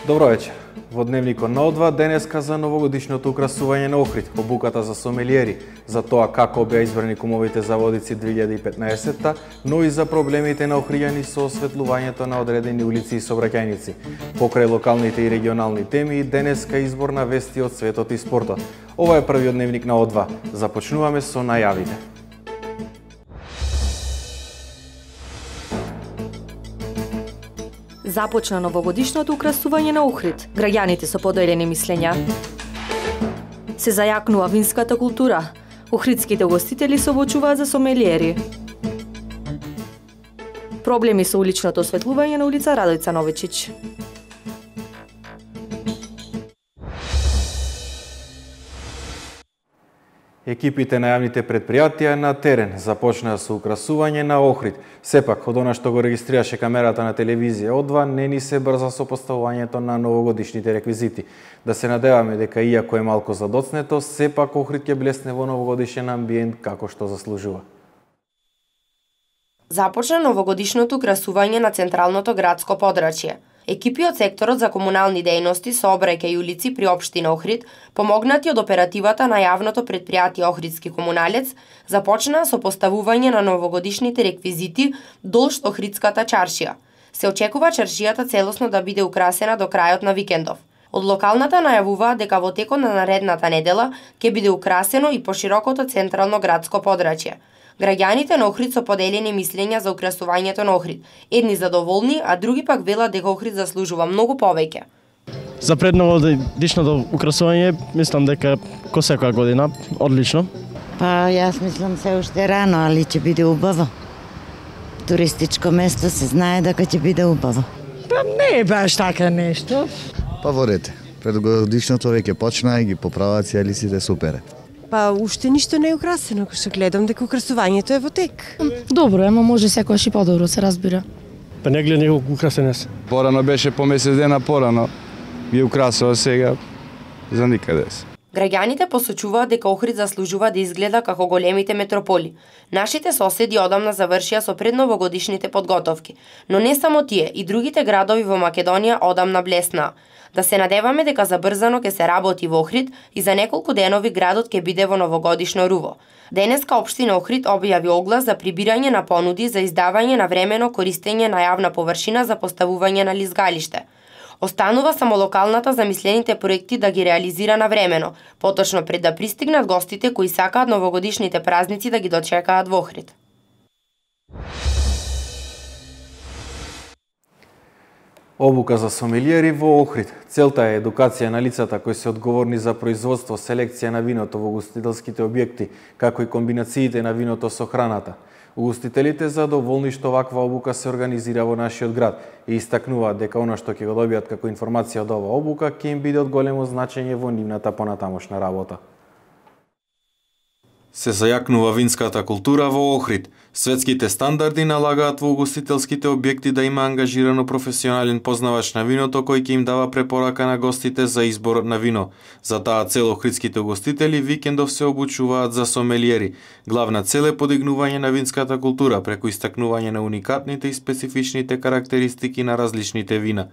Добро вечер. Во дневникот на О2 денеска за новогодишното украсување на Охрид, обуката за сомелиери, за тоа како беа избрани кумовите за водици 2015-та, но и за проблемите на охријани со осветлувањето на одредени улици и сообраќајници. Покрај локалните и регионални теми, денеска избор на вести од светот и спортот. Ова е првиот дневник на О2. Започнуваме со најавите. Започна новогодишното украсување на Охрид. Граѓаните со поделени мислења. Се зајакнува винската култура. Охридските гостители се обучуваат за сомелиери. Проблеми со уличното осветлување на улица Радојца Новичич. Екипите на јавните предпријатија на терен започнаа со украсување на Охрид. Сепак, од она што го регистрираше камерата на телевизија О2, не ни се брза со поставувањето на новогодишните реквизити. Да се надеваме дека иако е малку задоцнето, сепак Охрид ќе блесне во новогодишен амбиент како што заслужува. Започна новогодишното украсување на централното градско подрачје. Екипи од секторот за комунални дејности, сообраќај и улици при општина Охрид, помогнати од оперативата на јавното предпријатие Охридски комуналец, започнаа со поставување на новогодишните реквизити долж Охридската чаршија. Се очекува чаршијата целосно да биде украсена до крајот на викендов. Од локалната најавуваат дека во текот на наредната недела ќе биде украсено и поширокото централно градско подрачје. Граѓаните на Охрид со поделени мислења за украсувањето на Охрид. Едни задоволни, а други пак велат дека Охрид заслужува многу повеќе. За предновогодишното украсување мислам дека ко секоја година одлично. Па јас мислам се уште рано, али ќе биде убаво. Туристичко место се знае дека ќе биде убаво. Па не е баш така нешто. Па во ред. Предогодишното веќе почна и ги поправаат сите супер. Па уште ништо не е украсено, што гледам дека украсувањето е во тек. Добро, ама може секојаш и подобро, се разбира. Па не гледа неколку украсено се. Порано беше по месец дена порано. Би украсува сега за никаде се. Граѓаните посочуваат дека Охрид заслужува да изгледа како големите метрополи. Нашите соседи одамна завршија со предновогодишните подготовки, но не само тие, и другите градови во Македонија одамна блеснаа. Да се надеваме дека забрзано ќе се работи во Охрид и за неколку денови градот ќе биде во новогодишно руво. Денеска општина Охрид објави оглас за прибирање на понуди за издавање на времено користење на јавна површина за поставување на лизгалиште. Останува само локалната за мислените проекти да ги реализира на времено, поточно пред да пристигнат гостите кои сакаат новогодишните празници да ги дочекаат во Охрид. Обука за сомелиери во Охрид. Целта е едукација на лицата кои се одговорни за производство, селекција на виното во угостителските објекти, како и комбинациите на виното со храната. Угостителите задоволни што ваква обука се организира во нашиот град и истакнуваат дека она што ќе го добијат како информација од оваа обука ќе им биде од големо значење во нивната понатамошна работа. Се зајакнува винската култура во Охрид. Светските стандарди налагаат во угостителските објекти да има ангажирано професионален познавач на виното кој ќе им дава препорака на гостите за избор на вино. За таа цел охридските угостители викендов се обучуваат за сомелиери. Главна цел е подигнување на винската култура преку истакнување на уникатните и специфичните карактеристики на различните вина.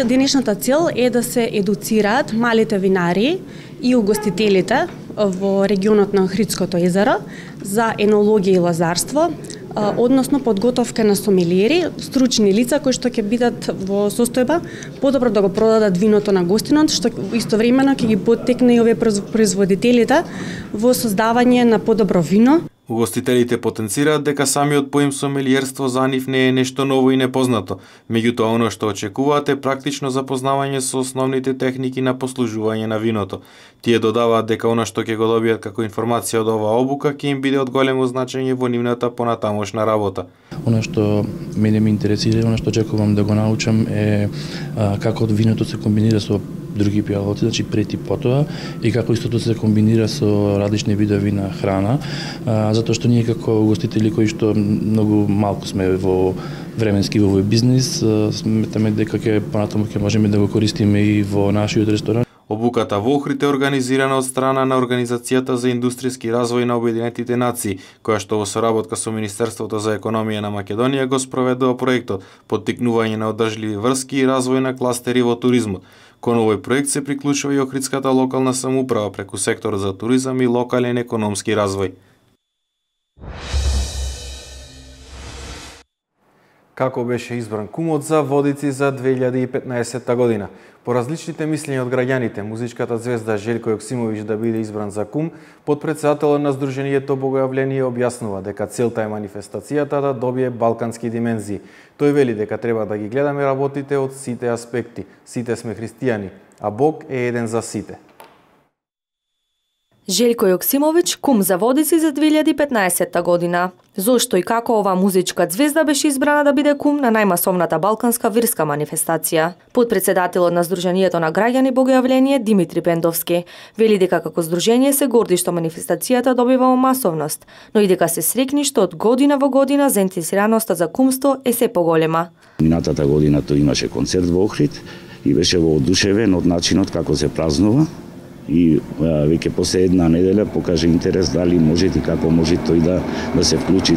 Денешната цел е да се едуцираат малите винари и угостителите во регионот на Охридското езеро за енологија и лозарство, односно подготовка на сомелиери, стручни лица кои што ќе бидат во состојба подобро да го продадат виното на гостинот, што истовремено ќе ги поттекне и овие производителите во создавање на подобро вино. Угостителите потенцираат дека самиот поим сомелиерство за нив не е нешто ново и непознато, меѓутоа оно што очекуваат е практично запознавање со основните техники на послужување на виното. Тие додаваат дека оно што ќе го добијат како информација од оваа обука ќе им биде од големо значење во нивната понатамошна работа. Оно што мене ме интересира, оно што очекувам да го научам е како виното се комбинира со други пијалоци, значи пред и потоа, и како истото се комбинира со различни видови на храна, затоа што ние како угостители кои што многу малку сме во временски во овој бизнис, сметаме дека понатаму ќе можеме да го користиме и во нашиот ресторан. Обуката во Охрид е организирана од страна на Организацијата за индустријски развој на Обединетите нации, која што во соработка со Министерството за економија на Македонија го спроведува проектот поттикнување на одржливи врски и развој на кластери во туризмот. Кон овој проект се приклучува и Охридската локална самоуправа преку секторот за туризам и локален економски развој. Како беше избран кумот за Водици за 2015 година? По различните мислења од граѓаните, музичката звезда Желко Јоксимовиќ да биде избран за кум, подпретседателот на Сдруженијето Богојавление објаснува дека целта е манифестацијата да добие балкански димензии. Тој вели дека треба да ги гледаме работите од сите аспекти. Сите сме христијани, а Бог е еден за сите. Желко Јоксимовиќ, кум за Водици за 2015 година. Зошто и како оваа музичка звезда беше избрана да биде кум на најмасовната балканска верска манифестација? Подпретседателот на Сдруженијето на граѓани Богојавление Димитри Пендовски вели дека како здружение се горди што манифестацијата добива масовност, но и дека се срекни што од година во година заинтересираноста за кумство е се поголема. Минатата година тој имаше концерт во Охрид и беше воодушевен од начинот како се празнува. И веќе после една неделя покаже интерес дали може и како може тој да се вклучи.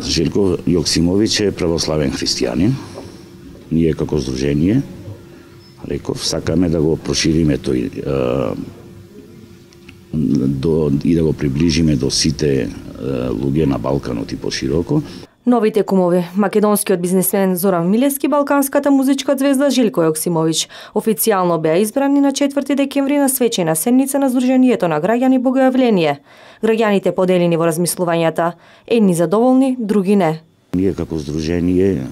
Желко Јоксимовиќ е православен христијанин. Ние како здружение, реков, сакаме да го прошириме тој и да го приближиме до сите луѓе на Балканот и пошироко. Новите кумови, македонскиот бизнисмен Зоран Милевски, балканската музичка звезда Желко Јоксимовиќ, официјално беа избрани на 4 декември на свечена седница на Сдруженијето на граѓани Богојавление. Граѓаните поделени во размислувањата, едни задоволни, други не. Ние како здружение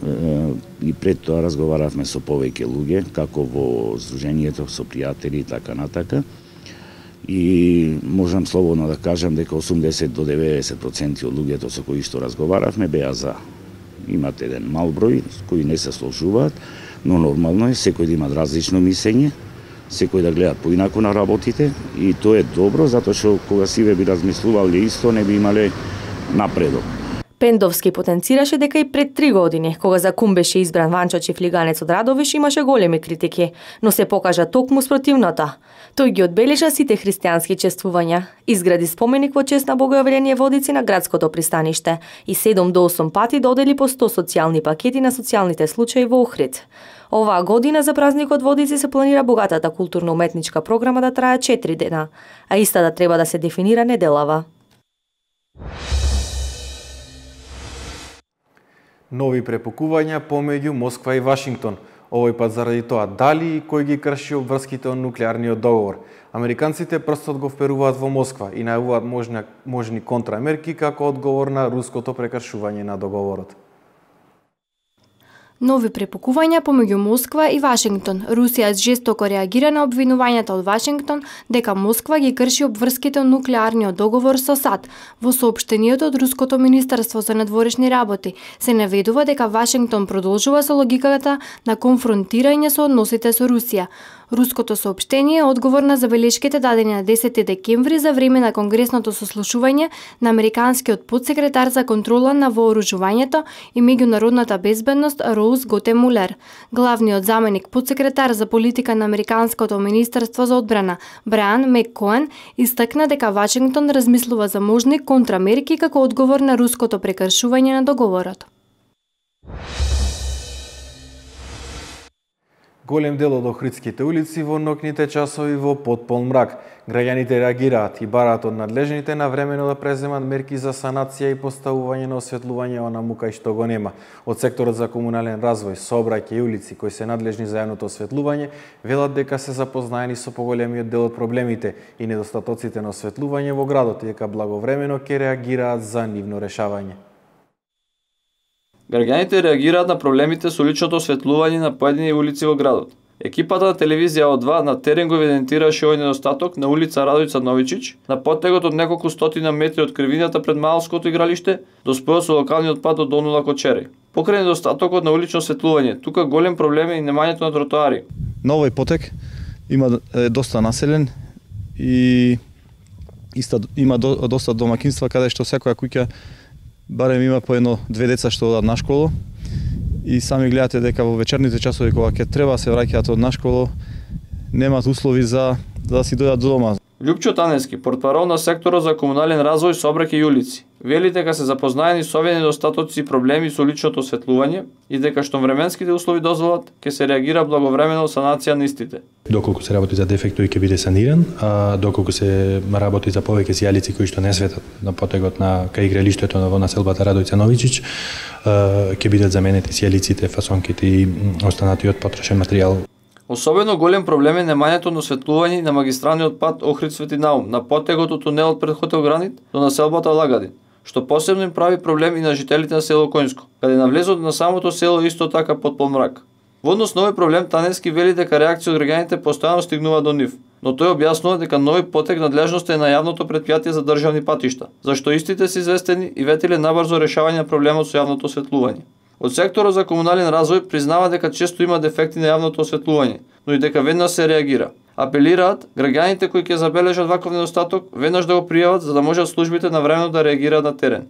и пред тоа разговаравме со повеќе луѓе, како во здруженијето, со пријатели и така натака. И можам слободно да кажам дека 80 до 90% од луѓето со кои што разговаравме беа за. Имат еден мал број кои не се сложуваат, но нормално е секој да има различно мислење, секој да гледа поинаку на работите и тоа е добро затоа што кога сиве би размислувале исто не би имале напредок. Пендовски потенцираше дека и пред 3 години, кога за кум беше избран Ванчо Чифлиганец од Радовиш, имаше големи критики, но се покажа токму спротивното. Тој ги одбележа сите христијански чествувања, изгради споменик во чест на Богојавление Водици на градското пристаниште и 7 до 8 пати додели по 100 социјални пакети на социјалните случаи во Охрид. Оваа година за празникот Водици се планира богатата културно-уметничка програма да трае 4 дена, а истата треба да се дефинира неделава. Нови препукувања помеѓу Москва и Вашингтон. Овој пат заради тоа дали и кој ги крши обврските од нуклеарниот договор. Американците прстот го вперуваат во Москва и најавуваат можни контрамерки како одговор на руското прекршување на договорот. Нови препукувања помеѓу Москва и Вашингтон. Русија жестоко реагира на обвинувањата од Вашингтон дека Москва ги крши обврските од нуклеарниот договор со САД. Во соопштенијето од Руското министерство за надворешни работи се наведува дека Вашингтон продолжува со логиката на конфронтирање со односите со Русија. Руското соопштение е одговор на забелешките дадени на 10 декември за време на конгресното сослушување на американскиот подсекретар за контрола на вооружувањето и меѓународната безбедност Роуз Готемулер. Главниот заменик подсекретар за политика на американското министерство за одбрана Брајан Меккоен истакна дека Вашингтон размислува за можни контрамерки како одговор на руското прекршување на договорот. Голем дел од охридските улици во ноќните часови во потполн мрак. Граѓаните реагираат и бараат од надлежните навремено да преземат мерки за санација и поставување на осветлување онаму кај што го нема. Од секторот за комунален развој, сообраќај и улици кои се надлежни за јавното осветлување велат дека се запознаени со поголемиот дел од проблемите и недостатоците на осветлување во градот и дека благовремено ќе реагираат за нивно решавање. Граѓаните реагираат на проблемите со личното осветлување на поедини улици во градот. Екипата на телевизија О2 на терен го евидентираше овој недостаток на улица Радојца Новичич, на поттегот од неколку стотина метри од кривината пред Малското игралиште до спојот со локалниот пат до Донула Кочери. Покрај недостатокот на улично осветлување, тука голем проблем е и немањето на тротоари. На овој потек има доста населен и има доста домакинства каде што секоја куќа барем има по едно-две деца што одат на школу и сами гледате дека во вечерните часови кога ќе треба се враќаат од на школу немаат услови за да си дојдат до дома. Љупчо Танески, портпарол на секторот за комунален развој, сообраќај и улици, вели дека се запознаени со овие недостатоци и проблеми со уличното осветлување и дека што временските услови дозволат, ќе се реагира благовремено санација на истите. Доколку се работи за дефект, тој ќе биде саниран, а доколку се работи за повеќе сијалици кои што не светат на потегот на кај игралиштето во населбата Радојца Новичич, ќе бидат заменети сијалиците, фасонките и останатиот потрошен материјал. Особено голем проблем е немањето на осветлување на магистралниот пат Охрид Свети Наум на потегот од тунелот пред хотел Гранит до населбата Лагадин, што посебно им прави проблем и на жителите на село Коњско, каде навлезот на самото село исто така под полмрак. Во однос на овој проблем Танески вели дека реакција од граѓаните постојано стигнува до нив, но тој објаснува дека нови потек надлежност е на јавното претпријатие за државни патишта, зашто истите се известени и ветиле набрзо решавање на проблемот со јавното осветлување. Од секторот за комунален развој признава дека често има дефекти на јавното осветлување, но и дека веднаш се реагира. Апелираат граѓаните кои ќе забележат ваков недостаток веднаш да го пријават за да можат службите навремено да реагираат на терен.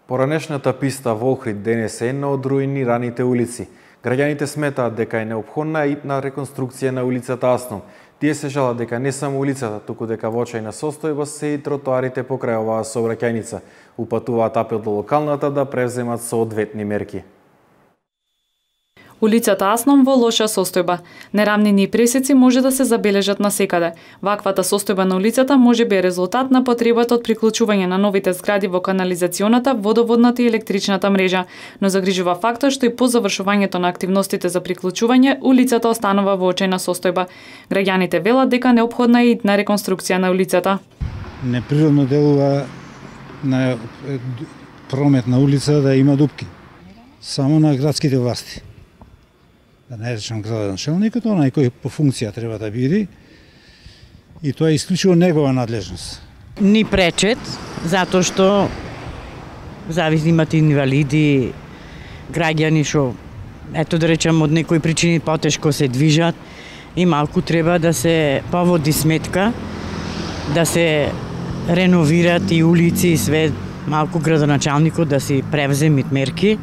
Поранешната писта во Охрид денес е една од руинираните улици. Граѓаните сметаат дека е неопходна ипна реконструкција на улицата Асном. Тие се жалат дека не само улицата, туку дека во очајна состојба се и тротоарите покрај оваа сообраќајница. Упатуваат апел до локалната да превземат соодветни мерки. Улицата Асном во лоша состојба. Нерамнини и пресеци може да се забележат насекаде. Ваквата состојба на улицата може би е резултат на потребата од приклучување на новите згради во канализационата, водоводната и електричната мрежа, но загрижува фактот што и по завршувањето на активностите за приклучување, улицата останува во очајна состојба. Граѓаните велат дека неопходна е итна реконструкција на улицата. Неприродно делува на промет на улица да има дупки. Само на градските власти. Да не речам градоначалникот, онај кој по функција треба да биде, и тоа е исклучиво негова надлежност. Ни пречет, затоа што зависи имат инвалиди, граѓани што, ето да речам, од некои причини потешко се движат и малку треба да се поводи сметка, да се реновират и улици и све, малку градоначалникот да си превземи мерки.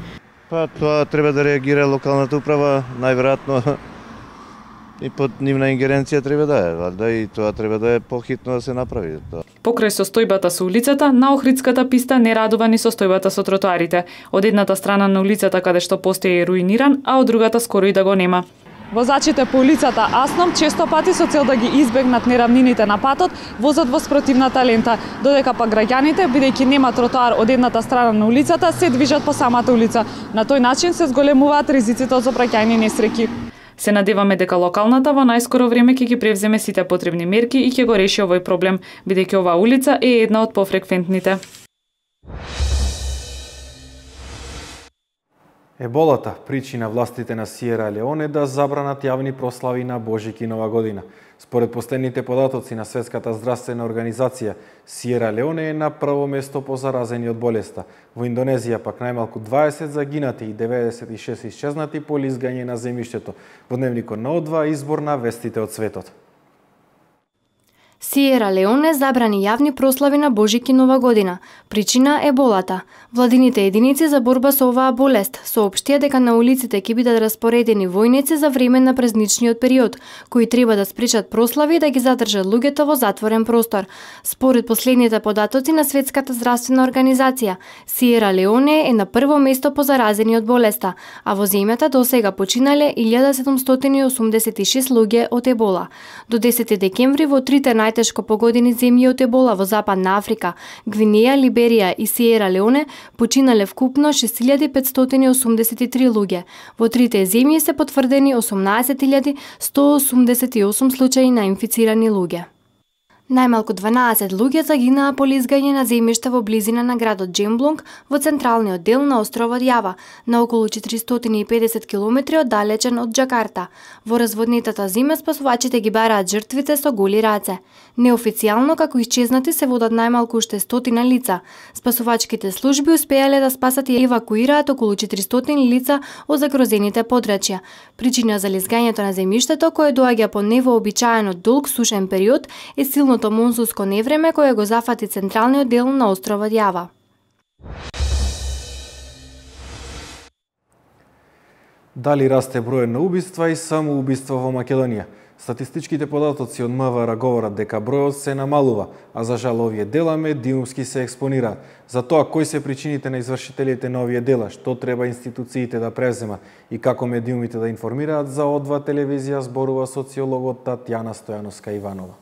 Па тоа треба да реагира локалната управа, најверојатно и под нивна ингеренција треба да е, валда и тоа треба да е похитно да се направи. Покрај состојбата со улицата, на Охридската писта не радува ни состојбата со тротоарите. Од едната страна на улицата каде што постои е руиниран, а од другата скоро и да го нема. Возачите по улицата Асном често пати со цел да ги избегнат неравнините на патот возат во спротивната лента, додека пак граѓаните, бидејќи нема тротоар од едната страна на улицата, се движат по самата улица. На тој начин се зголемуваат ризиците од сообраќајни несреќи. Се надеваме дека локалната во најскоро време ќе ги превземе сите потребни мерки и ќе го реши овој проблем, бидејќи оваа улица е една од пофреквентните. Еболата причина властите на Сиера Леоне да забранат јавни прослави на Божик и Нова година. Според последните податоци на Светската здравствена организација, Сиера Леоне е на прво место по заразени од болеста. Во Индонезија пак најмалку 20 загинати и 96 исчезнати по лизгање на земјиштето. Во дневникот на О2 избор на вестите од светот. Сиера Леоне забрани јавни прослави на Божик и Нова година. Причина е еболата. Владините единици за борба со оваа болест соопштија дека на улиците ќе бидат распоредени војници за време на празничниот период, кои треба да спречат прослави и да ги задржат луѓето во затворен простор. Според последните податоци на Светската здравствена организација, Сиера Леоне е на прво место по заразени од болеста, а во земјата досега починале 1786 луѓе од ебола. До 10 декември во трите најтешко погодени земји од ебола во Западна Африка, Гвинеја, Либерија и Сиера Леоне починале вкупно 6583 луѓе. Во трите земји се потврдени 18188 случаи на инфицирани луѓе. Најмалку 12 луѓе загинаа по лизгање на земјиште во близина на градот Джемблунг во централниот дел на островот Јава, на околу 450 км оддалечен од Џакарта. Во разводнетата зима спасувачите ги бараат жртвите со голи раце. Неофицијално како исчезнати се водат најмалку уште 100 лица. Спасувачките служби успеале да спасат и евакуираат околу 400 лица од загрозените подрачја. Причина за лизгањето на земјиштето, кое доаѓа по невообичаено долг сушен период, е силното монсунско невреме кое го зафати централниот дел на островот Јава. Дали расте бројот на убиства и самоубиства во Македонија? Статистичките податоци од МВР говорат дека бројот се намалува, а за жал овие дела медиумски се експонираат. За тоа кои се причините на извршителите на овие дела, што треба институциите да преземат и како медиумите да информираат, за О2 телевизија зборува социологот Татјана Стојановска-Иванова.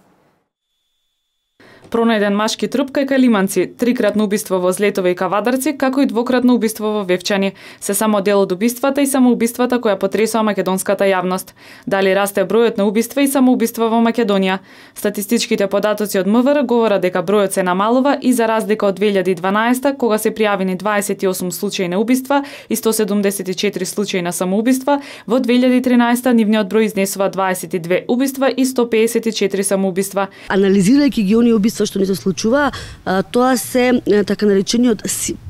Пронајден машки труп кај Калиманци, трикратно убиство во Злетове и Кавадарци, како и двократно убиство во Вевчани. Се само дел од убиствата и самоубиствата која потресоа македонската јавност. Дали расте бројот на убиства и самоубиства во Македонија? Статистичките податоци од МВР говорат дека бројот се намалува и за разлика од 2012, кога се пријавени 28 случаи на убиства и 174 случаи на самоубиства, во 2013 нивниот број изнесува 22 убиства и 154 самоубиства. Анализирајќи ги оние убиства што ни се случува, тоа се така наречениот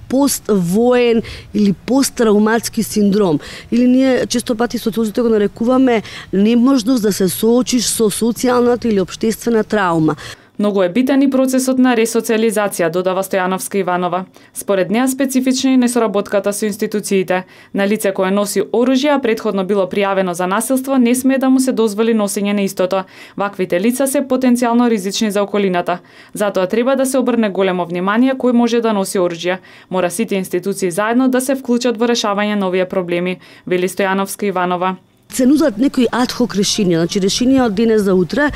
поствоен или посттравматски синдром. Или ние често пати социолозите го нарекуваме неможност да се соочиш со социјалната или општествена травма. Многу е битен и процесот на ресоциализација, додава Стојановска-Иванова. Според неа специфична е несоработката со институциите. На лице кое носи оружје, а претходно било пријавено за насилство, не смее да му се дозволи носење на истото. Ваквите лица се потенцијално ризични за околината. Затоа треба да се обрне големо внимание кој може да носи оружје. Мора сите институции заедно да се вклучат во решавање на овие проблеми, вели Стојановска-Иванова. Се нудат некои адхок решенија, значи решенија од денес за утре.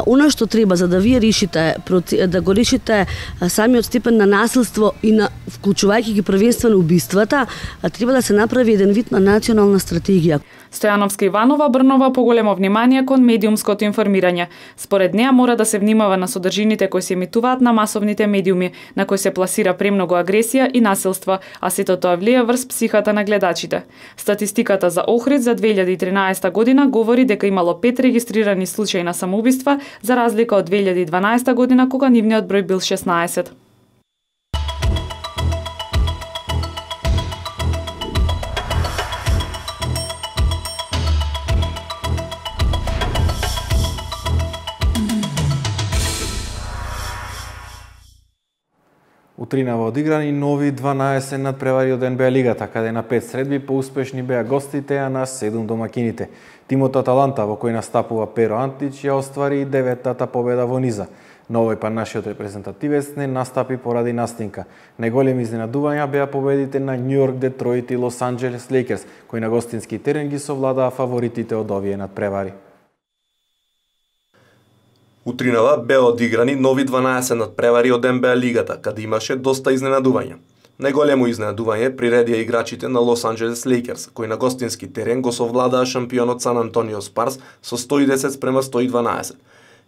Она што треба за да вие решите, да го решите самиот степен на насилство и на вклучувајќи ги првенствено убиствата, треба да се направи еден вид на национална стратегија. Стојановска-Иванова обрнува поголемо внимание кон медиумското информирање. Според неа мора да се внимава на содржините кои се емитуваат на масовните медиуми, на кои се пласира премногу агресија и насилство, а сето тоа влие врз психата на гледачите. Статистиката за Охрид за 2013 година говори дека имало 5 регистрирани случаи на самоубиства, за разлика од 2012 година кога нивниот број бил 16. Утринава одиграни нови 12 надпревари од НБА лигата, каде на 5 средби поуспешни беа гостите, а на 7 домакините. Тимот Аталанта, во кој настапува Перо Антич, ја оствари и 9-тата победа во низа. На овој пат нашиот репрезентативец не настапи поради настинка. Најголеми изненадувања беа победите на Нью Йорк, Детройт и Лос Анџелес Лейкерс, кои на гостински терен ги совладаа фаворитите од овие надпревари. Утринава беа одиграни нови 12 надпревари од НБА лигата, каде имаше доста изненадувања. Најголемо изненадување приредија играчите на Лос Анџелес Лейкерс, кои на гостински терен го совладаа шампионот Сан Антонио Спарс со 110-112.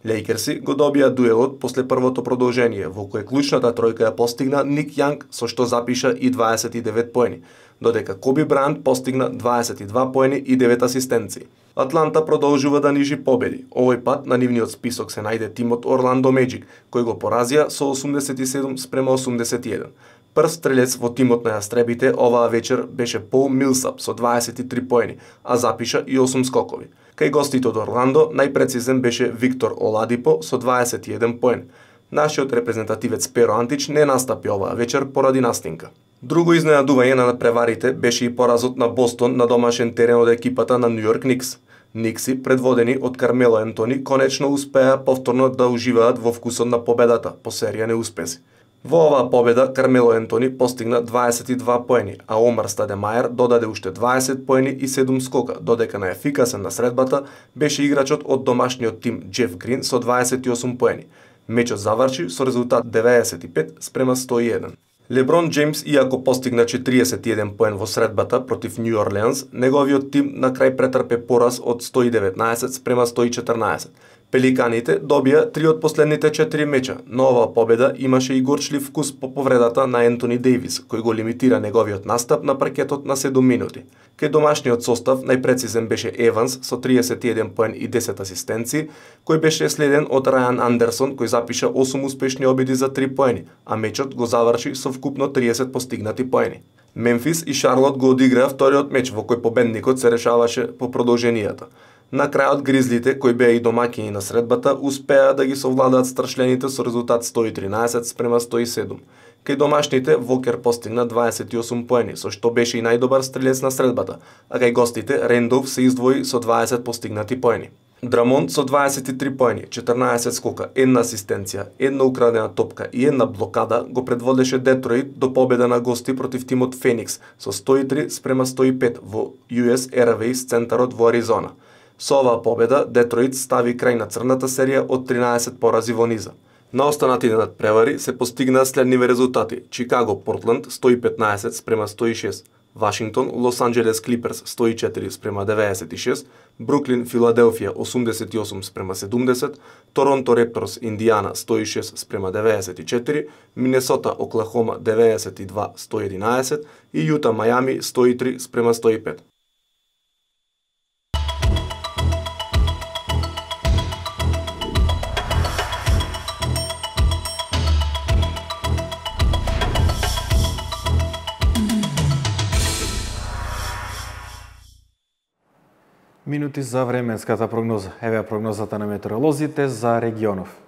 Лейкерси го добија дуелот после првото продолжение, во кое клучната тројка ја постигна Ник Јанг, со што запиша и 29 поени, додека Коби Брајант постигна 22 поени и 9 асистенции. Атланта продолжува да нижи победи. Овој пат на нивниот список се најде тимот Орландо Меджик, кој го поразија со 87-81. Прв стрелец во тимот на јастребите оваа вечер беше Пол Милсап со 23 поени, а запиша и 8 скокови. Кај гостите од Орландо најпрецизен беше Виктор Оладипо со 21 поен. Нашиот репрезентативец Перо Антич не настапи оваа вечер поради настинка. Друго изненадување на надпреварите беше и поразот на Бостон на домашен терен од екипата на Нью Йорк Никс. Никси, предводени од Кармело Ентони, конечно успеа повторно да уживаат во вкусот на победата по серија неуспеси. Во оваа победа Кармело Ентони постигна 22 поени, а Омар Стадемајер додаде уште 20 поени и 7 скока, додека најефикасен на средбата беше играчот од домашниот тим Джеф Грин со 28 поени. Мечот заврши со резултат 95-101. Леброн Джеймс, иако постигна 41 поен во средбата против Нью Орлеанс, неговиот тим на крај претрпе пораз од 119-114. Пеликаните добија 3 од последните 4 меча, но оваа победа имаше и горчлив вкус по повредата на Ентони Дејвис, кој го лимитира неговиот настап на паркетот на 7 минути. Кај домашниот состав најпрецизен беше Еванс со 31 поен и 10 асистенции, кој беше следен од Рајан Андерсон, кој запиша 8 успешни обиди за 3 поени, а мечот го заврши со вкупно 30 постигнати поени. Мемфис и Шарлот го одиграа вториот меч во кој победникот се решаваше по продолженијата. На крајот Гризлите, кои беа и домаќини на средбата, успеа да ги совладаат страшлените со резултат 113-107. Кај домашните Вокер постигна 28 поени, со што беше и најдобар стрелец на средбата, а кај гостите Рендов се издвои со 20 постигнати поени. Драмонт со 23 поени, 14 скока, 1 асистенција, 1 украдена топка и 1 блокада го предводеше Детройт до победа на гости против тимот Феникс со 103-105 во US Airways центарот во Аризона. Со оваа победа Детройт стави крај на црната серија од 13 порази во низа. На останатите надпревари се постигнаа следниве резултати: Чикаго Портланд 115-106, Вашингтон Лос Анџелес Клиперс 104-96, Бруклин Филаделфија 88-70, Торонто Репторс Индиана 106-94, Минесота Оклахома 92-111 и Јута Мајами 103-105. Минути за временската прогноза. Еве прогнозата на метеоролозите за регионов.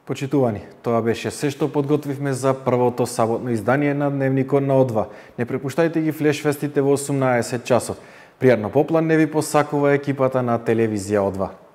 Почитувани, тоа беше се што подготвивме за првото саботно издание на Дневникот на О2. Не препуштајте ги флешвестите во 18 часот. Пријатно попладне ви посакува екипата на телевизија О2.